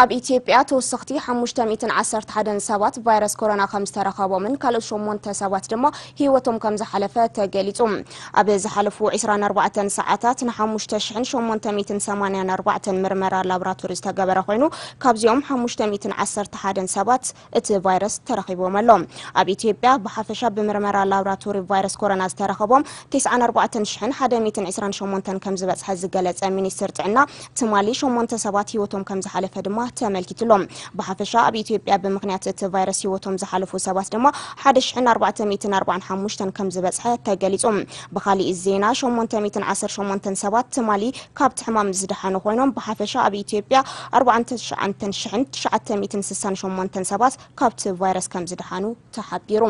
ኣብ ኢትዮጵያ ተወሰኽቲ ሓሙሽተ ሚእትን ዓሰርተ ሓደን ሰባት ቫይረስ ኮሮና ከም ዝተረኸቦምን ካልኦት ሸሞንተ ሰባት ድማ ህይወቶም ከም ዝሓለፈ ተገሊጹ። ኣብ ዝሓለፉ ዕስራን ኣርባዕተን ሰዓታት ንሓሙሽተ ሽሕን ሸሞንተ ሚእትን ሰማንያን ኣርባዕተን ምርመራ ላቦራቶሪ ዝተገበረ ኮይኑ፣ ካብዚኦም ሓሙሽተ ሚእትን ዓሰርተ ሓደን ሰባት እቲ ቫይረስ ተረኺቦም ኣሎ። ኣብ ኢትዮጵያ ብሓፈሻ ብምርመራ ላቦራቶሪ ቫይረስ ኮሮና ዝተረኸቦም ተስዓን ኣርባዕተን ሽሕን ሓደ ሚእትን ዕስራን ሸሞንተን ከም ዝበጽሐ ዝገለጸ ሚኒስትር ጥዕና፣ ትማሊ ሸሞንተ ሰባት ህይወቶም ከም ዝሓለፈ ድማ ተመልኪቱ ኣሎ። ብሓፈሻ ኣብ ኢትዮጵያ ብምኽንያት እቲ ቫይረስ ህይወቶም ዝሓለፉ ሰባት ድማ ሓደ ሽሕን ኣርባዕተ ሚእትን ኣርባዓን ሓሙሽተን ከም ዝበጽሐ ተገሊጹ። ብኻሊእ ዜና ሸሞንተ ሚእትን ዓሰርተ ሸሞንተን ሰባት ትማሊ ካብቲ ሕማም ዝደሓኑ ኮይኖም፣ ብሓፈሻ ኣብ ኢትዮጵያ ኣርባዓን ትሽዓን ሽሕን ትሽዓተ ሚእትን ስሳን ሸሞንተን ሰባት ካብቲ ቫይረስ ከም ዝደሓኑ ተሓቢሩ።